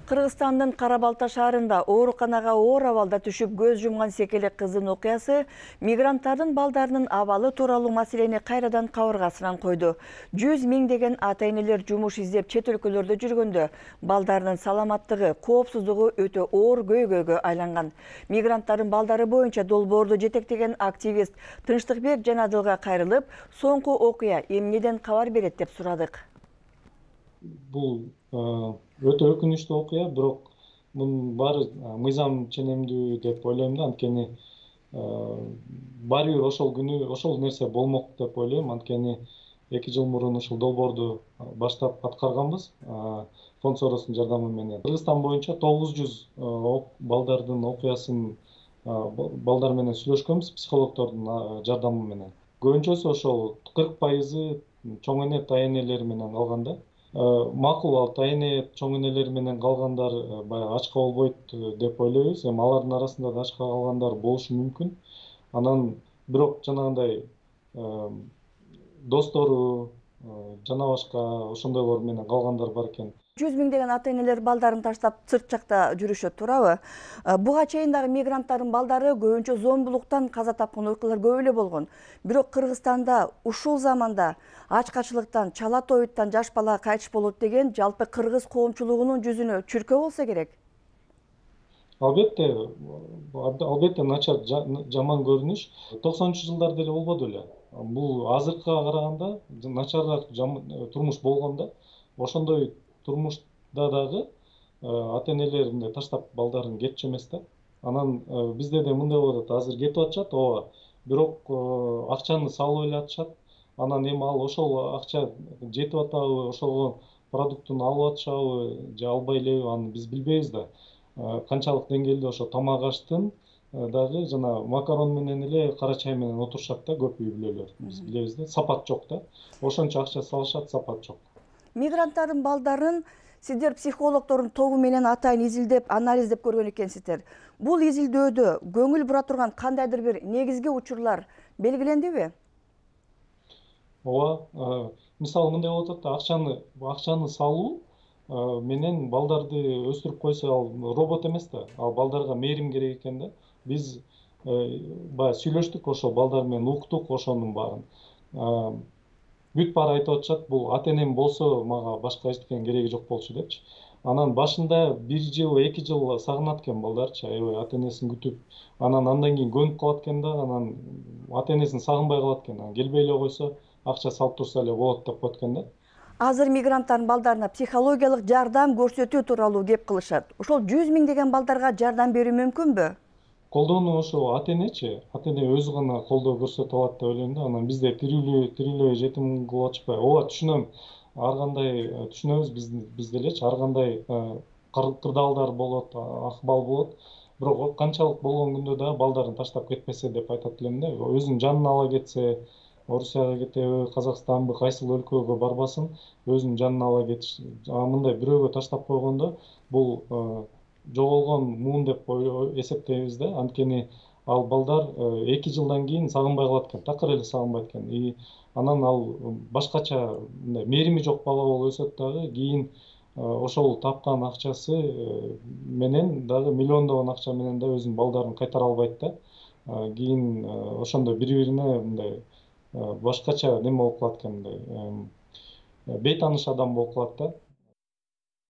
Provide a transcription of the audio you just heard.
Кыргызстандын Кара-Балта шаарында ооруканага оор абалда түшүп көз жумган секелек кыздын окуясы мигранттардын балдарынын абалы тууралуу маселени кайрадан кабыргасынан койду. 100 миңдеген ата-энелер жумуш издеп чет өлкөлөрдө жүргөндө балдарынын саламаттыгы, коопсуздугу өтө оор көйгөйгө айланган. Мигранттардын балдары боюнча долбоорду жетектеген активист Тынчтыкбек Жанадылга кайрылып, соңку окуя эмнеден кабар берет деп сурадык. Бул өтө өкүнүчтүү окуя, бирок мунун баары мыйзам ченемдүү деп ойлойм да, анткени баары бир ошол күнү ошол нерсе болмок деп ойлойм, анткени 2 жыл мурун ушул долбоорду баштап аткарганбыз фонд Соростун жардамы менен. Кыргызстан боюнча 900 балдардын окуясын балдар менен сүйлөшкөнбүз психологдордун жардамы менен. Көбүнчөсү ошол 40% чоң эне, тай энелер менен калган да. Макул, ал тай эне, чоң энелер менен калгандар баягы ачка болбойт деп ойлойбуз. Эми алардын арасында да ачка калгандар болушу мүмкүн. Анан бирок жанагындай достору жана башка ошондойлор менен калгандар бар экен. 100 миңдеген ата-энелер балдарын таштап сырт жакта жүрүшөт, туурабы? Буга чейин дагы мигранттардын балдары көбүнчө зомбулуктан каза тапкан окуялар көп эле болгон. Бирок Кыргызстанда ушул заманда ачкачылыктан, чала тоюттан жаш бала кайтыш болот деген жалпы кыргыз коомчулугунун жүзүнө чүркөө болсо керек. Албетте начар, жаман көрүнүш 90-жылдар деле болбоду эле. Бул азыркыга караганда начарыраак турмуш болгон да. Ошондой турмушта дагы ата-энелер мындай таштап балдарын кетчү эмес да. Анан бизде да мындай болуп атат, азыр кетип атышат, ооба. Бирок акчаны салып эле атышат. Анан эми ал ошол акча жетип атабы, ошого продуктун алып атышабы же албай элеби, аны биз билбейбиз да. Канчалык деңгээлде ошо тамак аштын дагы жана макарон менен эле кара чай менен отурушат да көп үй бүлөлөр. Биз билебиз да, сапат жок да. Ошончо акча салышат, сапат жок. Мигранттардын балдарын сиздер психологдордун тобу менен атайын изилдеп, анализдеп көргөн экенсиздер. Бул изилдөөдө көңүл бура турган кандайдыр бир негизги учурлар белгилендиби? Ооба, мисалы мындай болуп атат, акчаны салуу менен балдарды өстүрүп койсо ал робот эмес да. Ал балдарга мээрим керек экен да. Биз баягы сүйлөштүк, ошол балдар менен уктук ошонун баарын. Бүт баары айтып атышат, бул ата-энем болсо мага башка эчтеке кереги жок болчу депчи. Анан башында 1 жыл, 2 жыл сагынат экен балдарчы, аябай ата-энесин күтүп. Андан кийин көнүп калат экен да, анан ата-энесин сагынбай калат экен. Келбей эле койсо, акча салып турса эле болот деп коет экен да. Азыр мигранттардын балдарына психологиялык жардам көрсөтүү тууралуу кеп кылышат. Ошол 100 миңдеген балдарга жардам берүү мүмкүнбү? Колдоону ошо ата-энечи, ата-эне өзү гана колдоо көрсөтө алат деп ойлойм да. Анан бизде тирүүлөй жетим кылып атышпайбы? Ооба, түшүнөм. Ар кандай түшүнөбүз биз делечи, ар кандай кырдаалдар болот, акыбал болот. Бирок канчалык болгон күндө да балдарын таштап кетпесе деп айтат элем да. Өзүнүн жанын ала кетсе, Орусияга кетеби, Казакстанбы, кайсыл өлкөгө барбасын, өзүнүн жанын ала кетиш. Мындай бирөөгө таштап койгондо бул жоголгон муун деп эсептейбиз да. Анткени ал балдар 2 жылдан кийин сагынбай калат экен, такыр эле сагынбайт экен. И анан ал башкача мындай мээрими жок бала болуп өсөт дагы, кийин ошол тапкан акчасы менен дагы миллиондогон акча менен да өзүнүн балдарын кайтара албайт да. Кийин ошондо бири-бирине мындай башкача неме болуп калат экен, мындай бейтааныш адам болуп калат да.